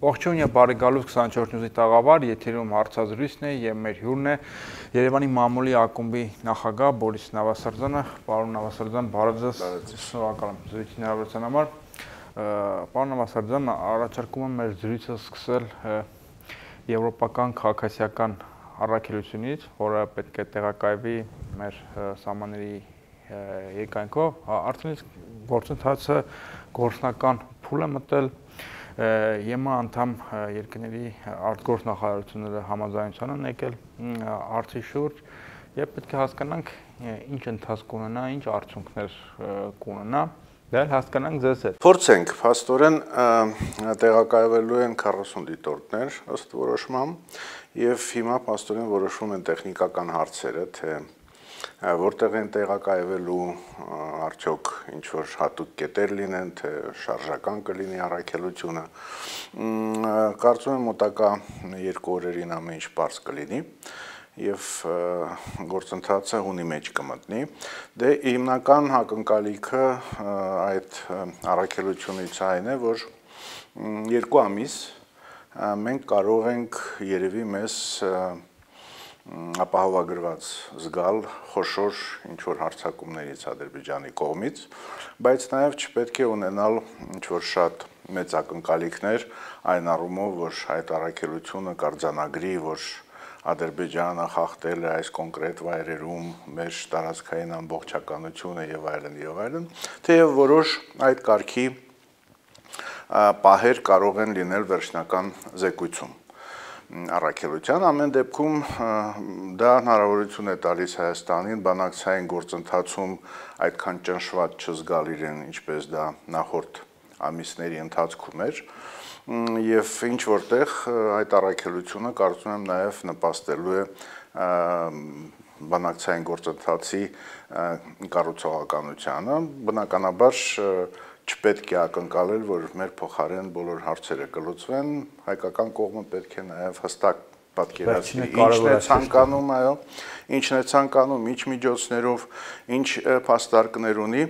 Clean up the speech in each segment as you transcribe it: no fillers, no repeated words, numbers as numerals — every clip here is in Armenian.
Ողջույն եւ բարի գալուս 24 նյուզի տաղավար, եթերում հարցազրույցն է եւ մեր հյուրն է Երևանի մամուլի ակումբի նախագահ Բորիս Նավասարդյանը։ Պարոն Նավասարդյան, բարև ձեզ։ Շնորհակալ եմ զրույցի հնարավորության համար։ Պարոն Նավասարդյան, առաջարկում եմ մեր զրույցը սկսել եվրոպական քաղաքացիական առաքելությունից, որը պետք է տեղակայվի մեր սահմանների երկայնքով, արդեն գործընթացը գործնական փուլ է մտել ԵՄ անդամ երկրների արտգործնախարարությունները համաձայնության են եկել հարցի շուրջ եւ պետք է հասկանանք ինչ ընթացք կունենա, ինչ արդյունքներ կունենա, դա հասկանանք ձեզ հետ։ Փորձենք, փաստորեն տեղակայվելու են 40 դիտորդներ ըստ որոշման եւ հիմա փաստորեն որոշվում են տեխնիկական հարցերը, թե որտեղ են տեղակայվելու, արդյոք ինչ որ հատուկ կետեր լինեն, թե շարժական կլինի առաքելությունը։ Կարծում եմ մոտակա 2 օրերին ամեն ինչ բարձ կլինի եւ գործընթացը հունի մեջ կմտնի։ Դե հիմնական ակնկալիքը այդ առաքելությունից այն է, որ 2 ամիս մենք կարող ենք երևի մեզ ապահովագրված զգալ խոշոր ինչ-որ հարձակումներից Ադրբեջանի կողմից, բայց նաև չպետք է ունենալ ինչ-որ շատ մեծ ակնկալիքներ այն առումով, որ այդ առաքելությունը կարձանագրի, որ Ադրբեջանը խախտել է այս կոնկրետ վայրերում մեր տարածքային ամբողջականությունը եւ այլն, թեև որոշ այդ կարգի պահեր կարող են լինել վերջնական զեկույցում առաքելության, ամեն դեպքում դա հնարավորություն է տալիս Հայաստանին բանակցային գործընթացում այդքան ճնշված չզգալ իրեն, ինչպես դա նախորդ ամիսների ընթացքում էր, եւ ինչ որտեղ այդ առաքելությունը կարծում եմ նաեւ նպաստելու է բանակցային գործընթացի կառուցողականությանը, բնականաբար չպետք է ակնկալել, որ մեր փոխարեն բոլոր հարցերը կլուծվեն, հայկական կողմը պետք է նաև հստակ պատկերացնի ինչն է ցանկանում, այո, ինչն է ցանկանում, ինչ միջոցներով, ինչ փաստարկներ ունի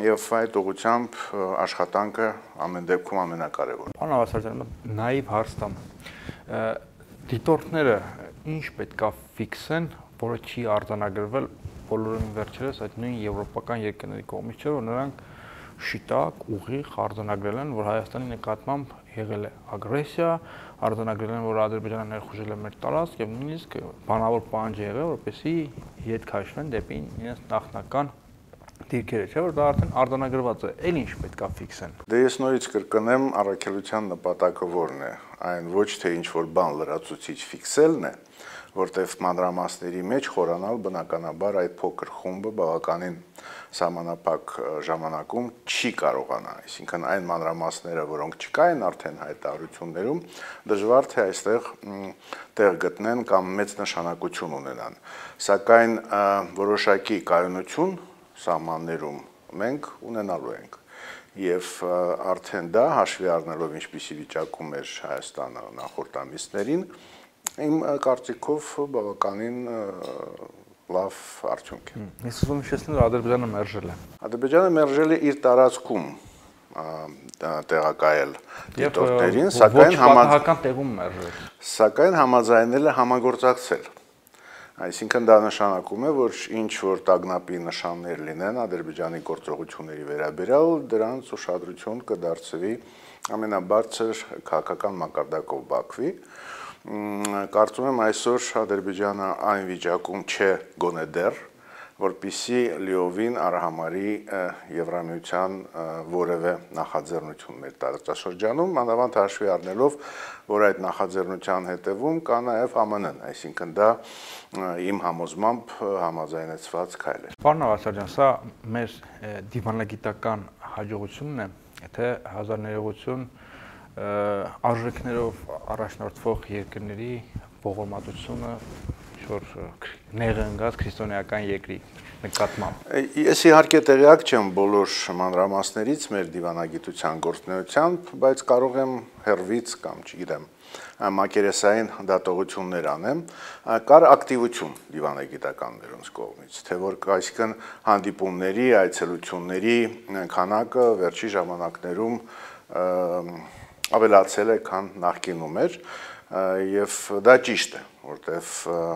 եւ այդ ուղղությամբ աշխատանքը ամեն դեպքում ամենակարևորն է։ Պարոն Նավասարդյան, նաիվ հարց տամ։ Դիտորդները ինչ պետքա ֆիքսեն, որը չի արձանագրվել բոլորին վերջերս այդ նույն եվրոպական երկրների կողմից, չէ՞ որ նրանք շիտակ, ուղիղ արձանագրել են, որ Հայաստանի նկատմամբ եղել է ագրեսիա, արձանագրել են, որ Ադրբեջանը ներխուժել է մեր տարածք եւ նույնիսկ բանավոր պահանջ եղել, որպեսզի ետ քաշվեն դեպի իրենց նախնական դիրքերը, չէ՞ որ դա արդեն արձանագրված է, այլ ինչ պետքա ֆիքսեն։ Դե ես նորից կրկնեմ, առաքելության նպատակը որն է, այն ոչ թե ինչ որ բան լրացուցիչ ֆիքսելն է, որտեղ մանրամասների մեջ խորանալ բնականաբար այդ փոքր խումբը բավականին սահմանափակ ժամանակում չի կարողանա, այսինքն այն մանրամասները, որոնք չկային արդեն հայտարարություններում, դժվար թե այստեղ տեղ գտնեն կամ մեծ նշանակություն ունենան, սակայն որոշակի կայունություն սահմաններում մենք ունենալու ենք եւ արդեն դա հաշվի առնելով ինչպիսի վիճակում էր Հայաստանը նախորդ ամիսներին, իմ կարծիքով բավականին լավ արդյունք է։ Ես ուզում եմ հիշեցնել, որ Ադրբեջանը մերժել է։ Ադրբեջանը մերժել է իր տարածքում տեղակայել դիտորդներին, սակայն համաձայնել է համագործակցել։ Այսինքն դա նշանակում է, որ ինչ որ տագնապի նշաններ լինեն Ադրբեջանի գործողությունների վերաբերյալ, դրանց ուշադրություն կդարձվի ամենաբարձր քաղաքական մակարդակով Բաքվի։ Կարծում եմ այսօր Ադրբեջանը այն վիճակում չէ գոնե դեռ, որպեսզի լիովին արհամարի Եվրամիության որևէ նախաձեռնություն մեր տարածաշրջանում, մանավանդ հաշվի առնելով, որ այդ նախաձեռնության հետևում կա նաև ԱՄՆ-ն, այսինքն դա իմ համոզմամբ համաձայնեցված քայլ է։ Պարոն Նավասարդյան, սա մեր դիվանագիտական հաջողությունն է, թե հազար ներողություն արժեքներով առաջնորդվող երկրների ողորմածությունը ինչ-որ նեղընկած քրիստոնեական երկրի նկատմամբ։ Ես իհարկե տեղյակ չեմ բոլոր մանրամասներից մեր դիվանագիտության գործունեությամբ, բայց կարող եմ հեռվից կամ չգիտեմ մակերեսային դատողություններ անեմ, կար ակտիվություն դիվանագիտականներոնց կողմից, թե որ այսինքն հանդիպումների, այցելությունների քանակը վերջի ժամանակներում ավելացել է, քան նախկինում էր, եւ դա ճիշտ է, որտեվ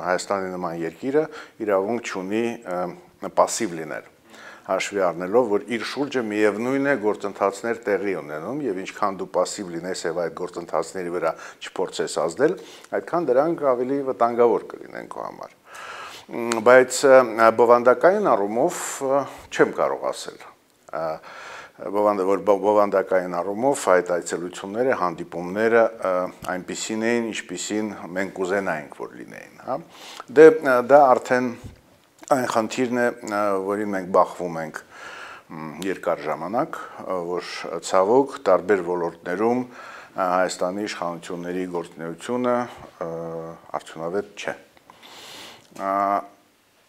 Հայաստանի նման երկիրը իրավունք չունի պասիվ լինել, հաշվի առնելով, որ իր շուրջը միևնույն է գործընթացներ տեղի ունենում եւ ինչքան դու պասիվ լինես եւ այդ գործընթացների վրա չփորձես ազդել, այդքան դրանք ավելի վտանգավոր կլինեն քո համար։ Բայց բովանդակային առումով չեմ կարող ասել։ Բովանդակային առումով այդ այցելությունները, հանդիպումները այնպիսին էին, ինչպիսին մենք կուզենայինք, որ լինեին, հա։ Դե դա արդեն այն խնդիրն է, որին մենք բախվում ենք երկար ժամանակ, որ ցավոք տարբեր ոլորտներում Հայաստանի իշխանությունների գործունեությունը արդյունավետ չէ։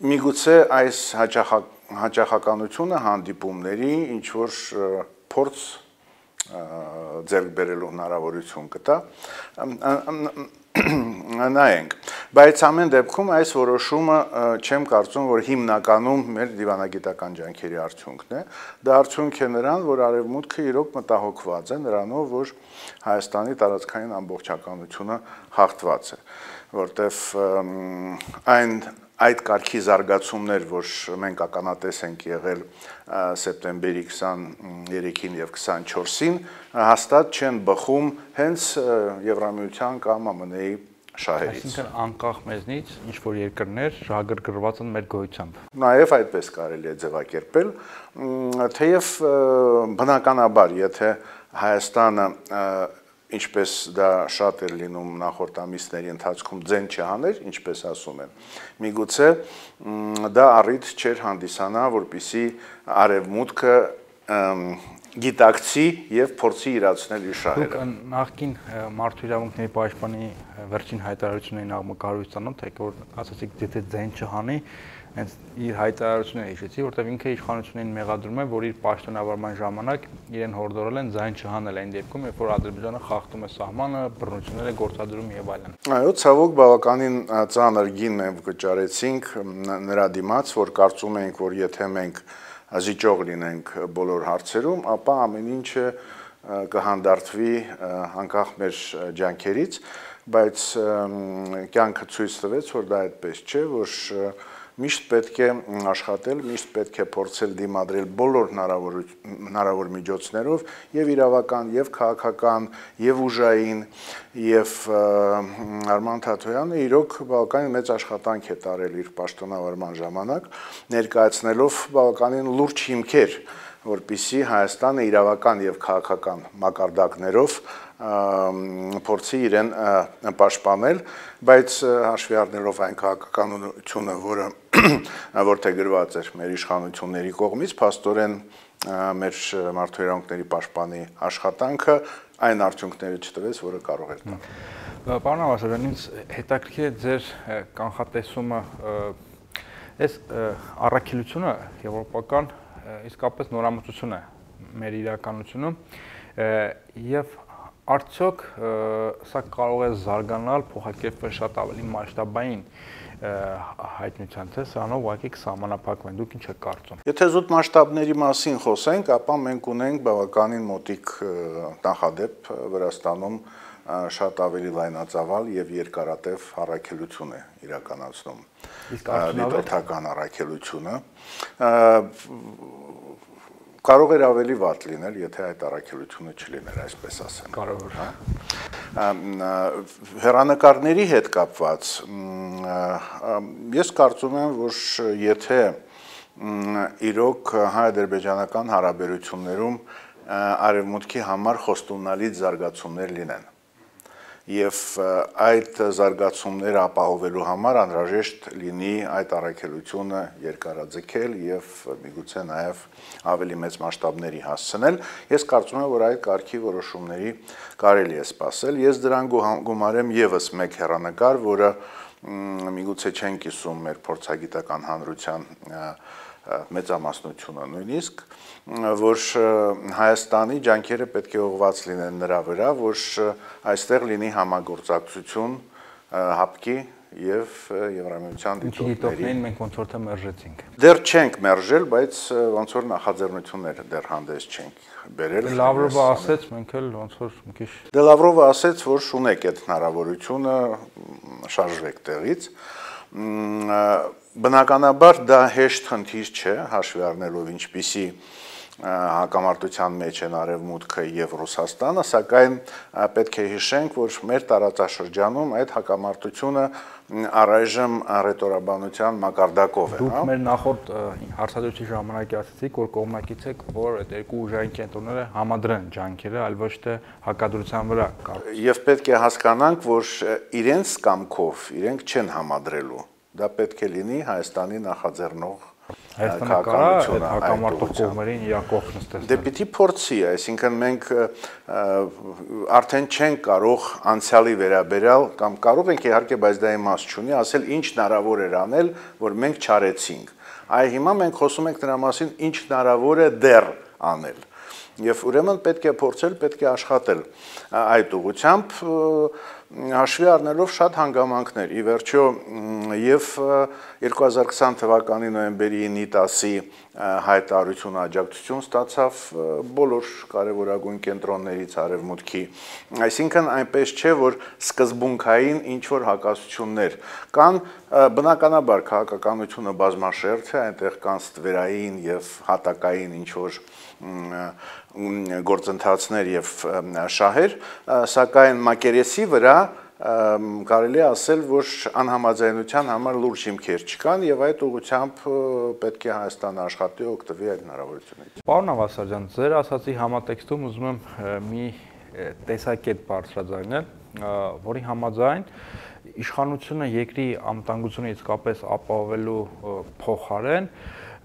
Միգուցե այս հաճախականությունը հանդիպումների ինչ որ փորձ ձեռք բերելու հնարավորություն կտա, նայենք, բայց ամեն դեպքում այս որոշումը չեմ կարծում, որ հիմնականում մեր դիվանագիտական ջանքերի արդյունքն է, դա արդյունք է նրան, որ արևմուտքը իրոք մտահոգված է նրանով, որ Հայաստանի տարածքային ամբողջականությունը հաղթված է, որտեվ այդ կարգի զարգացումներ, որ մենք ականատես ենք եղել սեպտեմբերի 23-ին եւ 24-ին, հաստատ չեն բխում հենց Եվրամիության կամ ԱՄՆ-ի շահերից։ Այսինքն անկախ մեզնից ինչ որ երկրներ շահագրգռված են մեր գոյությամբ։ Նաև այդպես կարելի է ձևակերպել, թեև բնականաբար, եթե Հայաստանը ինչպես դա շատ էր լինում նախորդ ամիսների ընթացքում ձեն չհաներ, ինչպես ասում են, միգուցե դա առիթ չէր հանդիսանա, որպեսզի արևմուտքը գիտակցի եւ փորձի իրացնել իր շահերը։ Նախկին մարդու իրավունքների պաշտպանի վերջին հայտարարություններին աղմկահարույց տանոթ եք, որ ասացիք, եթե ձեն չհանի, հենց իր հայտարարությունները հիշեցի, որտեղ ինքը իշխանություններին մեղադրում է, որ իր պաշտոնավարման ժամանակ իրեն հորդորել են ձայն չհանել այն դեպքում, երբ որ Ադրբեջանը խախտում է սահմանը, բռնություններ է գործադրում եւ այլն։ Այո, ցավոք բավականին ծանր գին մենք վճարեցինք նրա դիմաց, որ կարծում էինք, որ եթե մենք զիջող լինենք բոլոր հարցերում, ապա ամեն ինչը կհանդարտվի անկախ մեր ջանքերից, բայց կյանքը ցույց տվեց, որ դա այդպես չէ, որ միշտ պետք է աշխատել, միշտ պետք է փորձել դիմադրել բոլոր հնարավոր միջոցներով եւ իրավական, եւ քաղաքական, եւ ուժային, եւ Արման Թաթոյանը իրոք բավականին մեծ աշխատանք է տարել իր պաշտոնավարման ժամանակ, ներկայացնելով բավականին լուրջ հիմքեր, որպեսզի Հայաստանը իրավական եւ քաղաքական մակարդակներով փորձի իրեն պաշտպանել, բայց հաշվի առնելով այն քաղաքականությունը, որը որտեղ գրված էր մեր իշխանությունների կողմից, փաստորեն մեր մարդու իրավունքների պաշտպանի աշխատանքը այն արդյունքները չտվեց, որը կարող էր տալ։ Պարոն Ավասարյան, ինձ հետաքրքիր է ձեր կանխատեսումը, այս առաքելությունը եվրոպական իսկապես նորամուծություն է մեր իրականությունում եւ արդյոք սա կարող է զարգանալ, փոխակերպվել շատ ավելի մասշտաբային հայտնության, թե սրանով ուղղակի կսահմանափակվեն, դուք ինչ եք կարծում։ Եթե զուտ մասշտաբների մասին խոսենք, ապա մենք ունենք բավականին մոտիկ նախադեպ Վրաստանում շատ ավելի լայնածավալ եւ երկարատև առաքելություն է իրականացնում։ Իսկ արդյունավետ առաքելությունը կարող էր ավելի վատ լինել, եթե այդ առաքելությունը չլիներ, այսպես ասեմ։ Կարող է։ Հեռանկարների հետ կապված ես կարծում եմ, որ եթե իրոք հայ-ադրբեջանական հարաբերություններում արևմուտքի համար խոստումնալից զարգացումներ լինեն եւ այդ զարգացումները ապահովելու համար անհրաժեշտ լինի այդ առաքելությունը երկարաձգել եւ միգուցե նաեւ ավելի մեծ մասշտաբների հասցնել, ես կարծում եմ, որ այդ կարգի որոշումների կարելի է սպասել։ Ես դրան գումարեմ եւս մեկ հեռանկար, որը միգուցե չեն կիսում մեր փորձագիտական հանրության մեծամասնությունը նույնիսկ, որ Հայաստանի ջանքերը պետք է ուղղված լինեն նրա վրա, որ այստեղ լինի համագործակցություն ՀԱՊԿ-ի եւ Եվրամիության դիտորդներին մենք ոնց որ թե մերժեցինք։ Դեռ չենք մերժել, բայց ոնց որ նախաձեռնությունները դեռ հանդես չենք բերել։ Լավրովը ասեց, մենք էլ ոնց որ մի քիչ Դե Լավրովը ասեց, որ ունեք այդ հնարավորությունը շարժվեք տեղից։ Բնականաբար դա հեշտ խնդիր չէ, հաշվի առնելով ինչպիսի հակամարտության մեջ են Արևմուտքը եւ Ռուսաստանը, սակայն պետք է հիշենք, որ մեր տարածաշրջանում այդ հակամարտությունը առայժմ ռետորաբանության մակարդակով է, Դուք մեր նախորդ հարցադրույցի ժամանակ ասացիք, որ կողմնակից եք, որ այդ երկու ուժային կենտրոնները համադրեն ջանքերը, այլ ոչ թե հակադրության վրա կառուցեն։ Եվ պետք է հասկանանք, որ իրենց կամքով իրենք չեն համադրելու։ Դա պետք է լինի Հայաստանի նախաձեռնող Հայաստանը կարող է հակամարտող կողմերին իրար կողմ նստել։ Դե պիտի փորձի, այսինքն մենք արդեն չենք կարող անցյալի վերաբերյալ կամ կարող ենք իհարկե, բայց դա իմաստ չունի, ասել ինչ հնարավոր էր անել, որ մենք չարեցինք։ Այ հիմա մենք խոսում ենք նրա մասին, ինչ հնարավոր է դեռ անել։ Եվ ուրեմն պետք է փորձել, պետք է աշխատել այդ ուղղությամբ հաշվի առնելով շատ հանգամանքներ։ Ի վերջո եւ 2020 թվականի նոյեմբերի 9-10-ի հայտարարությունը աջակցություն ստացավ բոլոր կարևորագույն կենտրոններից Արևմուտքի։ Այսինքն այնպես չէ, որ սկզբունքային ինչ որ հակասություններ կան, բնականաբար քաղաքականությունը բազմաշերտ է, այնտեղ կան ստվերային եւ հատակային ինչ որ գործընթացներ եւ շահեր, սակայն մակերեսի վրա կարելի է ասել, որ անհամաձայնության համար լուրջ հիմքեր չկան եւ այդ ուղղությամբ պետք է Հայաստանը աշխատի օգտվի այդ հնարավորությունից։ Պարոն Ավասարյան, ձեր ասացի համատեքստում ուզում եմ մի տեսակետ բարձրաձայնել, որի համաձայն իշխանությունը երկրի անվտանգությունը իսկապես ապահովելու փոխարեն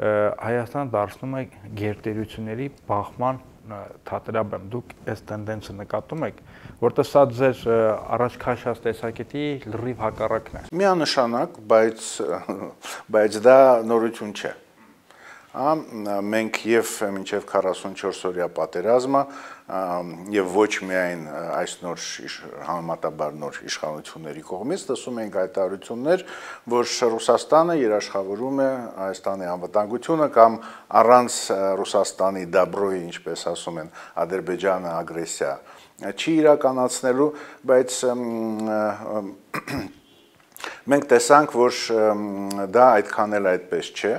Հայաստանը դարձնում է գերտերությունների բախման թատերաբեմ։ Դուք այս տենդենսը նկատում եք, որտեղ սա ձեր առաջ քաշած տեսակետի լրիվ հակառակն է։ Միանշանակ, բայց դա նորություն չէ։ Մենք եւ մինչեւ 44 օրյա պատերազմը եւ ոչ միայն այս նոր համեմատաբար նոր իշխանությունների կողմից լսում ենք հայտարարություններ, որ Ռուսաստանը երաշխավորում է Հայաստանի անվտանգությունը կամ առանց Ռուսաստանի դաբրոյի, ինչպես ասում են, Ադրբեջանը ագրեսիա չի իրականացնելու, բայց մենք տեսանք, որ դա այդքան էլ այդպես չէ,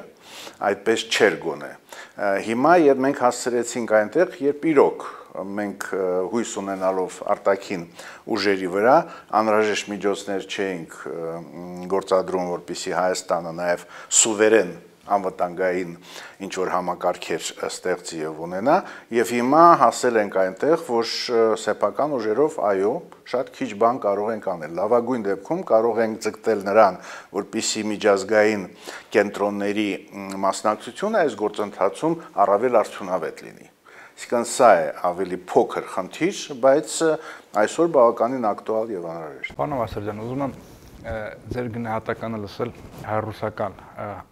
այդպես չէր գոնե։ Հիմա երբ մենք հասցրեցինք այնտեղ, երբ իրոք մենք հույս ունենալով արտաքին ուժերի վրա անհրաժեշտ միջոցներ չէինք գործադրում, որպեսզի Հայաստանը նաև սուվերեն անվտանգային ինչ որ համակարգեր ստեղծի եւ ունենա, եւ հիմա հասել ենք այնտեղ, որ սեփական ուժերով այո, շատ քիչ բան կարող ենք անել։ Լավագույն դեպքում կարող ենք ձգտել նրան, որպեսզի միջազգային կենտրոնների մասնակցությունը այս գործընթացում առավել արդյունավետ լինի։ Իսկան սա է ավելի փոքր խնդիր, բայց այսօր բավականին ակտուալ եւ անհրաժեշտ։ Պարոն Ավասարյան, ուզում եմ ձեր գնահատականը լսել հայ-ռուսական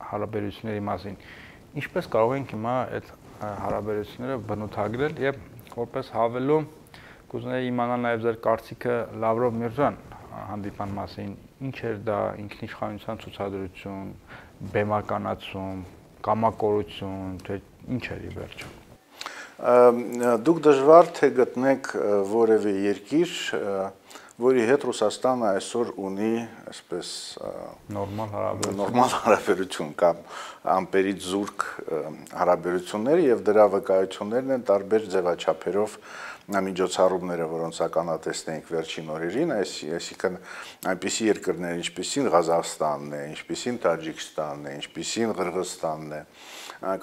հարաբերությունների մասին։ Ինչպես կարող ենք հիմա այդ հարաբերությունները բնութագրել եւ որպես հավելում կուզենայի իմանալ նաեւ ձեր կարծիքը Լավրով-Միրզոյան հանդիպման մասին։ Ինչ էր դա, ինքնիշխանության ցուցադրություն, բեմականացում, կամակորություն, թե ինչ էր ի վերջո։ Դուք դժվար թե գտնեք որևէ երկիր, որի հետ Ռուսաստանը այսօր ունի այսպես նորմալ հարաբերություն կամ ամպերից զուրկ հարաբերություններ եւ դրա վկայություններն են տարբեր ձևաչափերով միջոցառումները, որոնց ականատեսնենք վերջին օրերին, այսինքն այնպիսի երկրներ, ինչպիսին Ղազախստանն է, ինչպիսին Տաջիկստանն է, ինչպիսին Ղրղըզստանն է,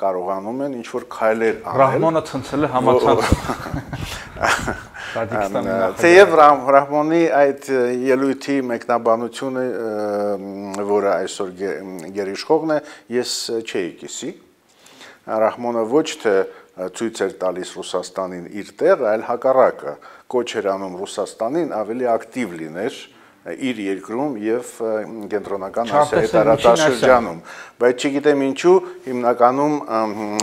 կարողանում են ինչ որ քայլեր անել։ Ռահմոնը ցնցել է համացանցը։ Թեև Ռահմոնի այդ ելույթի մեկնաբանությունը, որը այսօր գերիշխողն է, ես չէի կիսի։ Ռահմոնը ոչ թե ցույց էր տալիս Ռուսաստանին իր տեղը, այլ հակառակը, կոչ էր անում Ռուսաստանին ավելի ակտիվ լիներ իր երկրում եւ կենտրոնական Ասիայի տարածաշրջանում, բայց չգիտեմ ինչու հիմնականում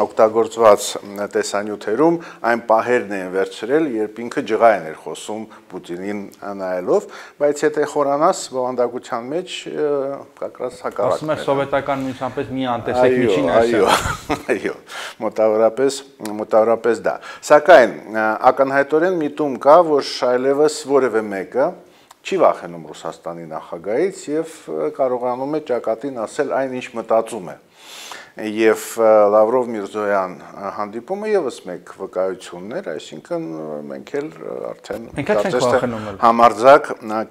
օգտագործված տեսանյութերում այն պահերն են վերցրել, երբ ինքը ջղային էր խոսում Պուտինին նայելով, բայց եթե խորանաս բովանդակության մեջ կակրած հակառակն է։ Ասում եք սովետական միության պես մի անտեսեք միջին Ասիա։ Այո, մոտավորապես դա։ Սակայն ակնհայտորեն միտում կա, որ այլևս որևէ մեկը չի վախենում Ռուսաստանի նախագահից եւ կարողանում է ճակատին ասել այն, ինչ մտածում է։ Եվ Լավրով-Միրզոյան հանդիպումը եւս մեկ վկայությունն էր, այսինքն մենք էլ արդեն համարձակ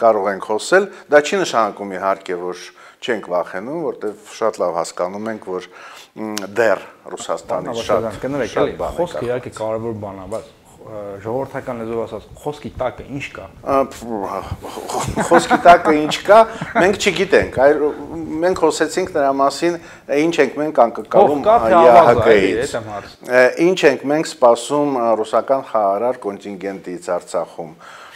կարող ենք խոսել, դա չի նշանակում իհարկե, որ չենք վախենում, որտեղ շատ լավ հասկանում ենք, որ դեռ Ռուսաստանից շատ բան խոսքը իհարկե կարևոր բան է, բայց ժողովրդական լեզվով ասած, խոսքի տակը ինչ կա։ Խոսքի տակը ինչ կա, մենք չգիտենք, մենք խոսեցինք նրա մասին, ինչ ենք մենք անկկալում ՀՀԿ-ից, ինչ ենք մենք սպասում ռուսական խաղաղարար կոնտինգենտից Արցախում։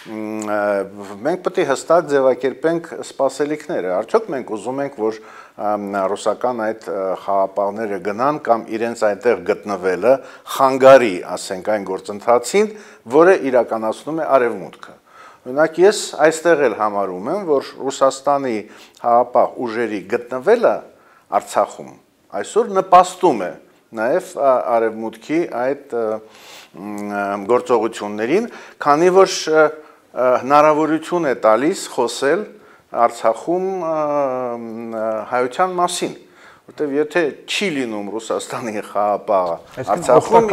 Մենք պետք է հստակ ձևակերպենք սպասելիքները, արդյոք մենք ուզում ենք, որ ռուսական այդ խաղապահները գնան կամ իրենց այնտեղ գտնվելը խանգարի, ասենք, այն գործընթացին, որը իրականացնում է Արևմուտքը։ Օրինակ ես այստեղ էլ համարում եմ, որ Ռուսաստանի խաղապահ ուժերի գտնվելը Արցախում այսօր նպաստում է նաև Արևմուտքի այդ գործողություններին, քանի որ հնարավորություն է տալիս խոսել Արցախում հայության մասին, որտեղ եթե չի լինում Ռուսաստանի խաղապահը Արցախում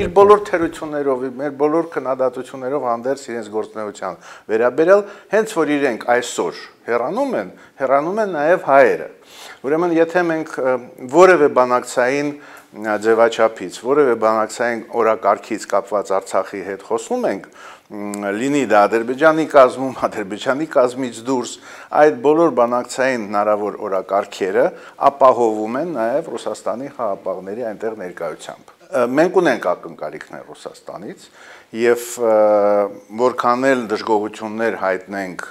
իր բոլոր թերություններով, մեր բոլոր քննադատություններով հանդերձ իրենց գործունեության վերաբերյալ, հենց որ իրենք այսօր հեռանում են նաև հայերը։ Ուրեմն եթե մենք որևէ բանակցային ձևաչափից, որևէ բանակցային օրակարգից կապված Արցախի հետ խոսում ենք, լինի դա Ադրբեջանի կազմում, Ադրբեջանի կազմից դուրս, այդ բոլոր բանակցային հնարավոր օրակարգերը ապահովում են նաև Ռուսաստանի խաղապահների այնտեղ ներկայությամբ։ Մենք ունենք ակնկալիքներ Ռուսաստանից եւ որքան էլ դժգոհություններ հայտնենք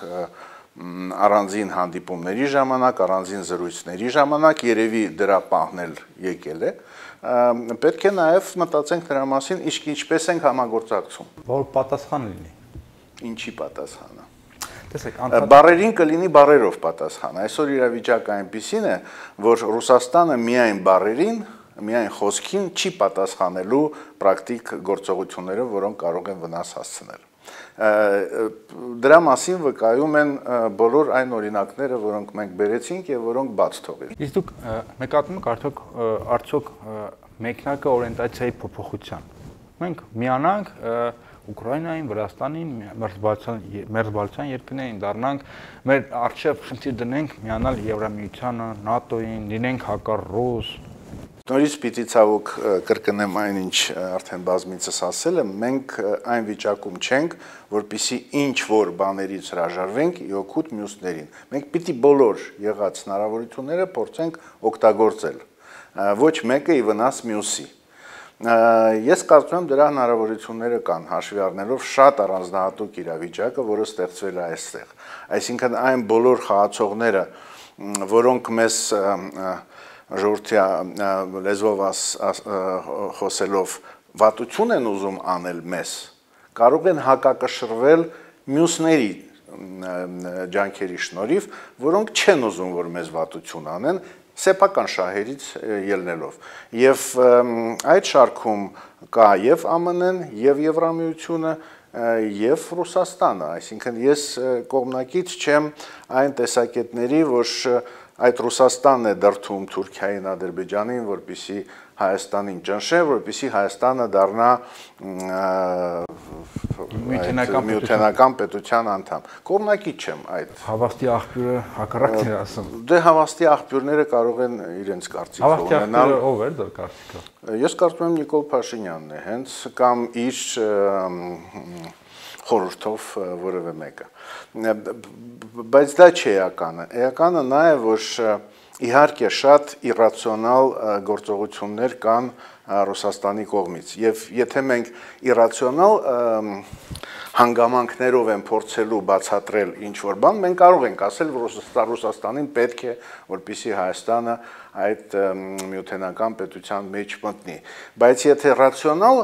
առանձին հանդիպումների ժամանակ, առանձին զրույցների ժամանակ, երևի դրա պահն էլ եկել է, պետք է նաև մտածենք նրա մասին, ինչպես ենք համագործակցում։ Որ պատասխան լինի։ Ինչի պատասխանը։ Տեսեք, բառերին կլինի բառերով պատասխան։ Այսօր իրավիճակը այնպիսին է, որ Ռուսաստանը միայն բառերին, միայն խոսքին չի պատասխանելու պրակտիկ գործողություններով, որոնք կարող են վնաս հասցնել։ Դրա մասին վկայում են բոլոր այն օրինակները, որոնք մենք բերեցինք եւ որոնք բաց թողեցինք։ Իսկ դուք նկատում եք արդյոք մեկնակը օրիենտացիայի փոփոխության։ Մենք միանանք Ուկրաինային, Վրաստանին, մերձբալթյան երկրներին, դառնանք մեր արժեվ խնդիր դնենք միանալ Եվրամիությանը, ՆԱՏՕ-ին, լինենք հակառուս։ Նորից պիտի ցավոք կրկնեմ այն, ինչ արդեն բազմիցս ասել եմ, մենք այն վիճակում չենք, որպեսզի ինչ որ բաներից հրաժարվենք իօգուտ մյուսներին։ Մենք պիտի բոլոր եղած հնարավորությունները փորձենք օգտագործել, ոչ մեկը ի վնաս մյուսի։ Ես կարծում եմ դրա հնարավորությունները կան, հաշվի առնելով շատ առանձնահատուկ իրավիճակը, որը ստեղծվել է այստեղ։ Այսինքն այն բոլոր խաղացողները, որոնք մեզ ժողովրդի լեզվով խոսելով վատություն են ուզում անել մեզ, կարող են հակակշռվել մյուսների ջանքերի շնորհիվ, որոնք չեն ուզում, որ մեզ վատություն անեն, սեփական շահերից ելնելով։ Եվ այդ շարքում կա եւ ԱՄՆ-ն, եւ Եվրամիությունը, եւ Ռուսաստանը, այսինքն ես կողմնակից չեմ այն տեսակետների, որ այդ Ռուսաստանն է դրդում Թուրքիային, Ադրբեջանին, որպեսզի Հայաստանին ճնշեն, որպեսզի Հայաստանը դառնա միութենական պետության անդամ։ Կողմնակից չեմ այդ։ Հավաստի աղբյուրը հակառակն էր ասում։ Դե հավաստի աղբյուրները կարող են իրենց կարծիքը ունենալ։ Հավաստի աղբյուրը ով էր դա կարծիքը։ Ես կարծում եմ Նիկոլ Փաշինյանն է, հենց կամ իր խորհրդով որևէ մեկը։ Բայց դա չի էականը։ Էականը նա է, որ իհարկե շատ իրացիոնալ գործողություններ կան Ռուսաստանի կողմից եւ եթե մենք իրացիոնալ հանգամանքներով են փորձելու բացատրել ինչ որ բան, մենք կարող ենք ասել, որ Ռուսաստանին պետք է, որպեսզի Հայաստանը այդ միութենական պետության մեջ մտնի, բայց եթե ռացիոնալ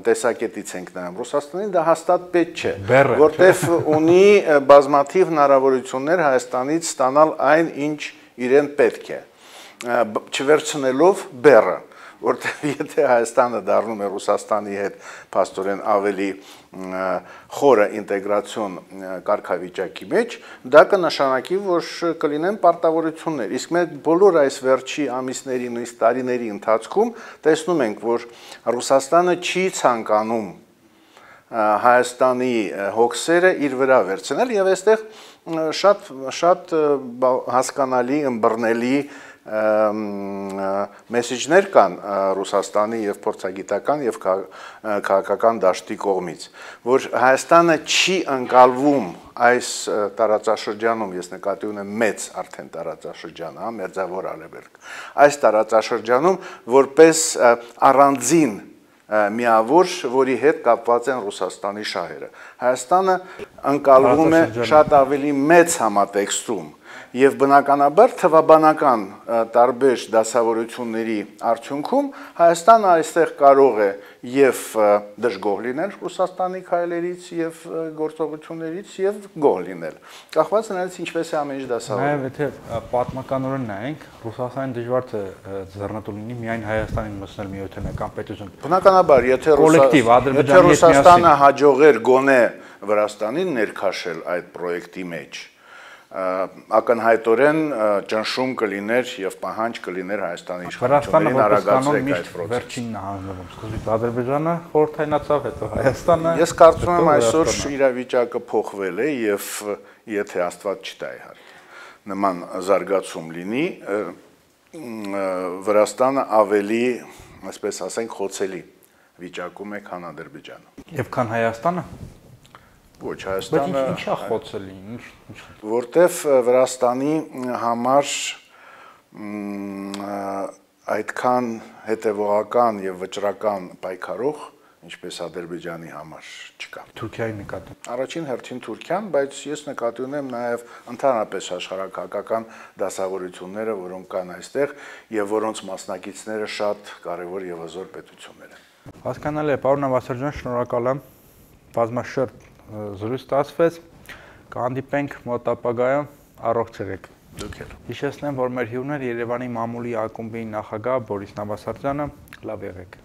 տեսակետից ենք նայում, Ռուսաստանին դա հաստատ պետք չէ, որտեղ ունի բազմաթիվ հնարավորություններ Հայաստանից ստանալ այն, ինչ իրեն պետք է, չվերցնելով բեռը, որտեղ եթե Հայաստանը դառնում է Ռուսաստանի հետ փաստորեն ավելի խորը ինտեգրացիոն կարգավիճակի մեջ, դա կնշանակի, որ կլինեն պարտավորություններ, իսկ մենք բոլոր այս վերջի ամիսների, նույնիսկ տարիների ընթացքում տեսնում ենք, որ Ռուսաստանը չի ցանկանում Հայաստանի հոգսերը իր վրա վերցնել եւ այստեղ շատ հասկանալի, ըմբռնելի մեսեջներ կան Ռուսաստանի եւ փորձագիտական եւ քաղաքական դաշտի կողմից, որ Հայաստանը չի ընկալվում այս տարածաշրջանում, ես նկատի ունեմ մեծ արդեն տարածաշրջան, Մերձավոր Արևելք, այս տարածաշրջանում որպես առանձին միավոր, որի հետ կապված են Ռուսաստանի շահերը։ Հայաստանը ընկալվում է շատ ավելի մեծ համատեքստում եւ բնականաբար թվաբանական տարբեր դասավորությունների արդյունքում Հայաստանը այստեղ կարող է եւ դժգոհ լինել Ռուսաստանի քայլերից եւ գործողություններից եւ գոհ լինել։ Կախված նրանից ինչպես է ամեն ինչ դասավորվում։ Նաեւ եթե պատմականորեն նայենք, Ռուսաստանին դժվար է ձեռնտու լինի միայն Հայաստանին մտցնել միութենական պետություն։ Բնականաբար, եթե Ռուսաստանը հաջողեր գոնե Վրաստանին ներքաշել այդ պրոյեկտի մեջ, ակնհայտորեն ճնշում կլիներ եւ պահանջ կլիներ Հայաստանի իշխանություններին արագացրեք այդ պրոցեսը։ Վերջինն է հանձնվում, սկզբից Ադրբեջանը խորհրդայնացավ, հետո Հայաստանը։ Ես կարծում եմ այսօր իրավիճակը փոխվել է եւ եթե Աստված չտա իհարկե նման զարգացում լինի, Վրաստանը ավելի, այսպես ասենք, խոցելի վիճակում է, քան Ադրբեջանը։ Եվ քան Հայաստանը։ Ոչ, Հայաստանը ինչա խոցելի, որտեվ Վրաստանի համար այդքան հետևողական եւ վճռական պայքարող, ինչպես Ադրբեջանի համար չկա։ Թուրքիայի նկատմամբ։ Առաջին հերթին Թուրքիան, բայց ես նկատի ունեմ նաեւ ընդհանրապես աշխարհակական դասավորությունները, որոնք կան այստեղ եւ որոնց մասնակիցները շատ կարեւոր եւ հզոր պետություններ են։ Հասկանալի է, պարոն Նավասարյան, շնորհակալ եմ։ Բազմաշերտ զրույց ստացվեց, կհանդիպենք մոտ ապագայում, առողջ եղեք։ Դուք էլ։ Հիշեցնեմ, որ մեր հյուրն էր Երևանի մամուլի ակումբի նախագահ Բորիս Նավասարյանը, լավ եղեք։